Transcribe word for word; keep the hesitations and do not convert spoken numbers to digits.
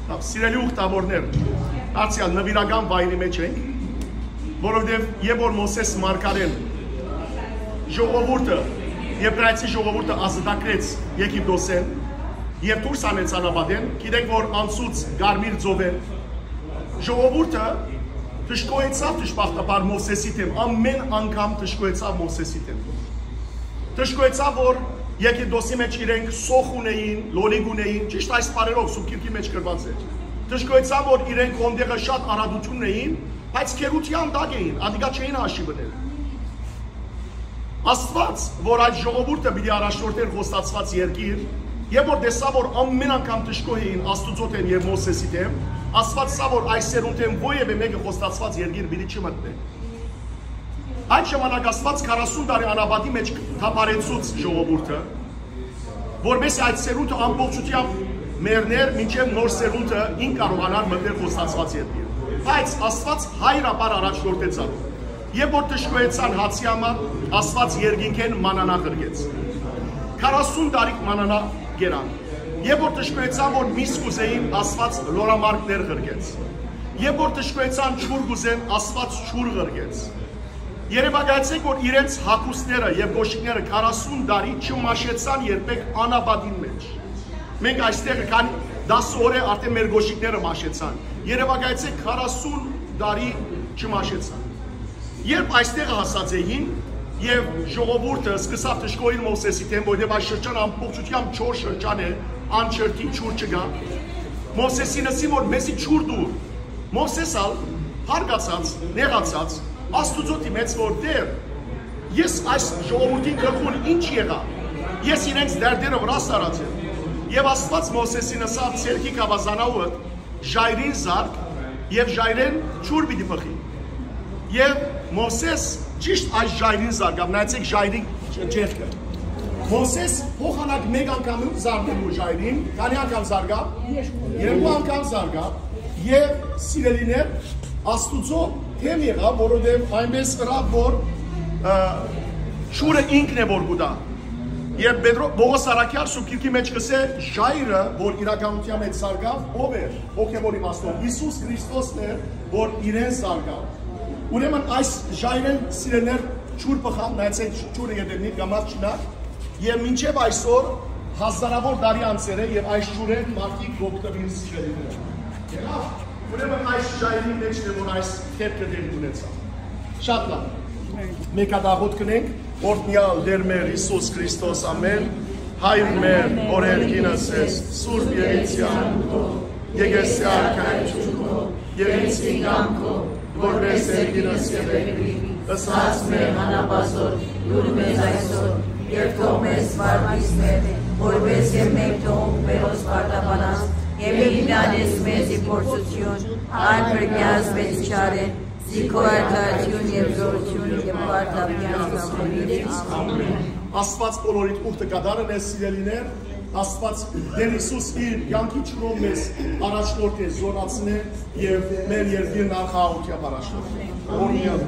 Սիրելի ուխտավորներ, դարձեալ նվիրական վայրի մեջ ենք, որովհետեւ երբ որ Մովսէս մարգարեն ժողովուրդը, Եբրայեցի ժողովուրդը ազատագրեց Եգիպտոսէն եւ դուրս հանեց անապատէն, գիտենք որ անցուց Կարմիր ծովէն, ժողովուրդը դժգոհեցաւ դժբախտաբար Մովսէսի դէմ, ամեն անգամ դժգոհեցաւ Մովսէսի դէմ։ Դժգոհեցաւ որ Եգիպտոսի մեջ իրենք սոխ ունէին, լոլիկ ունէին, ճիշտ այս բառերով Սուրբ Գիրքի մեջ գրուած է։ Դժգոհեցաւ որ իրենք հոն տեղը շատ արագութիւն ունէին, բայց գերութեան տակ էին, ատիկա չէին հաշիվ ընել։ Աստուած, որ այդ ժողովուրդը պիտի առաջնորդէր խոստացուած երկիր, երբ որ տեսաւ որ ամեն անգամ դժգոհ էին Աստուծոյ դէմ եւ Մովսէսի դէմ, Աստուած սա որ այս սերունդէն որեւէ մէկը խոստացուած երկիր պիտի չմտնէ։ Այդ ժամանակ Աստուած քառասուն տարի անապատի մեջ թափառեցուց ժողովուրդը, որպեսզի այդ սերունդը ամբողջությամբ մեռնէր, մինչեւ նոր սերունդը ինք կարողանար մտնել խոստացուած երկիր։ Բայց Աստուած հայրաբար առաջնորդեց անոր։ Երբ որ դժգոհեցան հացի համար, Աստուած երկինքէն մանանա ղրկեց։ Քառասուն տարի մանանա կերան։ Երբ որ դժգոհեցան որ միս կուզէին, Աստուած լորամարգներ ղրկեց։ Երբ որ դժգոհեցան ջուր կուզեն, Աստուած ջուր ղրկեց։ Երեւակայեցէք որ իրենց հագուստները եւ կոշիկները քառասուն տարի չմաշեցան երբեք անապատին մեջ։ Մենք այստեղ քանի տասը օր է արդեն մեր կոշիկները մաշեցան։ Երեւակայեցէք քառասուն տարի չմաշեցան։ Երբ այստեղ հասած էին, եւ ժողովուրդը սկսաւ դժգոհիլ Մովսէսի դէմ, որովհետեւ այս շրջան ամբողջությամբ չոր շրջան է, անջրդի ջուր չկայ։ Մովսէսին ըսին որ մեզի ջուր տուր։ Մովսէս ալ հարգացած, նեղացած, Աստուծոյ դիմեց որ Տէր, ես այս ժողովուրդին գլխուն ինչ եղայ, ես իրենց դերդերը վրայ սառած եմ։ Եւ Աստուած Մովսէսին ըսաւ. «Ձեռքի գաւազանաուդ ժայռին զարկ եւ ժայռէն ջուր պիտի բխի»։ Եւ Մովսէս ճիշտ այս ժայռին զարկաւ, նայեցէք ժայռին ջ-, ջերքը։ Մովսէս փոխանակ մէկ անգամ զարկաւ ու ժայռին, քանի՞ անգամ զարկաւ։ Երկու անգամ զարկաւ։ Եւ սիրելիներ, Աստուծոյ դէմ եղաւ, որովհետեւ այնպես ըրաւ որ, ը, ջուրը ինքն է որ կու տայ։ Երբ Պետրո-, Պողոս Առաքեալ Սուրբ Գիրքի մեջ կ'ըսէ, ժայռը որ իրականութեան մեջ զարկաւ, ո՞վ էր, հոգեւոր իմաստով Յիսուս Քրիստոսն էր որ իրեն զարկաւ։ Ուրեմն այս ժայռէն, սիրելիներ, ջուր բխաւ, նայեցէք, ջուրը ետևնի կամած չնայ, եւ մինչեւ այսօր հազարաւոր տարի անցեր է եւ այս ջուրէն մարդիկ կ'օգտուին, սիրելիներ։ Եղա՞վ։ Ուրեմն այս ժայռին մէջն է որ այս դեպքը տեղի ունեցաւ։ Շատ լավ։ Մէկ հատ աղոթք կ'ընենք, օրհնեալ Տէր մեր Յիսուս Քրիստոս, ամէն։ Հայր մեր, որ երկինս ես, Սուրբ Երիցեան, եկեղեցի արքայ, Երիցին կամքով, որպես երկինս եւ երկրի, ըսած մեր անապազոր, դուր մեզ այսօր, եւ թող մեզ վարդիս մեր, որպես եւ մենք թողունք մերոս պարտապանած, եւ մի տանես մեզի փորձութիւն, այլ փրկեաս մեզի չարէն, զի քո արդարութիւն եւ զորութիւն եւ պարտապեան կամքով։ Աստուած բոլորիդ ուխտը կատարն է, սիրելիներ, Աստուած Տէր Յիսուս իր կեանքի ջուրով մեզ առաջնորդ է, զորացնէ եւ մեր երկիրն արխայութեամբ առաջնորդի։ Օրհնեալ։